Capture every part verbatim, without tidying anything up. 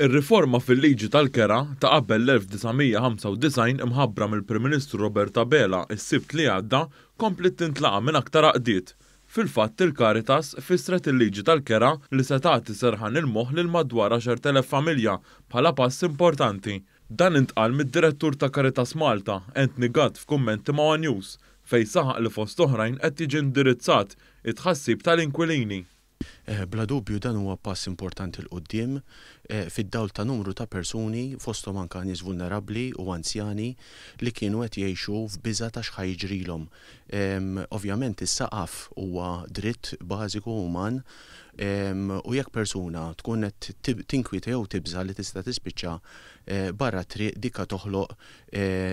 Ir-riforma fil-liġi tal-kera ta' qabel l-elf disa' mija ħamsa u disgħin imħabbra mill-Prim Ministru Robert Abela s-Sibt li għadda kompliet tintlaqa' minn aktar għaqdiet. Fil-fatt il-Caritas fissret il-liġi tal-kera li se tagħti serħan il-moħħ lil madwar għaxart elef familja bħala pass importanti. Dan intqal mid-direttur ta' Caritas Malta, Anthony Gatt, f'kummenti ma' One News, fejn saħaq li fost oħrajn qed jiġi indirizzat it-tħassib tal-inkwilini. Bla dubju dan huwa pass importanti 'l quddiem fid-dawl ta' numru ta' persuni fosthom anke nies vulnerabbli u anzjani li kienu qed jgħixu f'biża' ta' x'ħa jiġrilhom. Ovvjament is-saqaf huwa dritt bażiku uman u jekk persuna tkun qed tinkwieta jew tibża' li tista' tispiċċa barra t-triq, dikka toħloq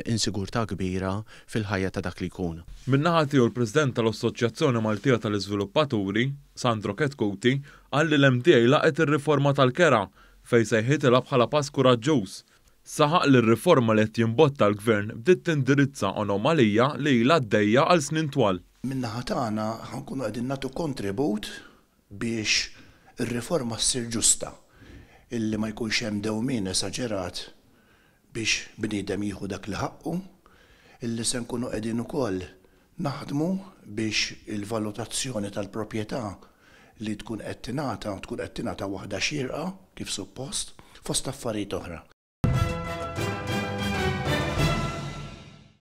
insigurtà kbira fil-ħajja ta' dak li jkun. Min-naħa tiegħu l-President tal-Assoċjazzjoni Maltija tal-Iżviluppaturi, Sandro Chetcuti, qal li l-M D A laqgħet ir-riforma tal-kera fejn sejħitilha bħala pass kuraġġuż. Saħaq li r-riforma li qed jimbotta l-gvern bdiet tindirizza anomalija li ilha għaddejja għal snin twal. Min-naħa tagħna ħankunu qegħdin nagħtu kontribut biex ir-riforma ssir ġusta, illi ma jkunx hemm dewmien esaġerat biex bniedem jieħu dak li ħaqqu, illi se nkunu qegħdin ukoll naħdmu biex il-valutazzjoni tal-proprjetà li tkun qed tingħata tkun qed tingħata waħda xierqa kif suppost fost affarijiet oħra.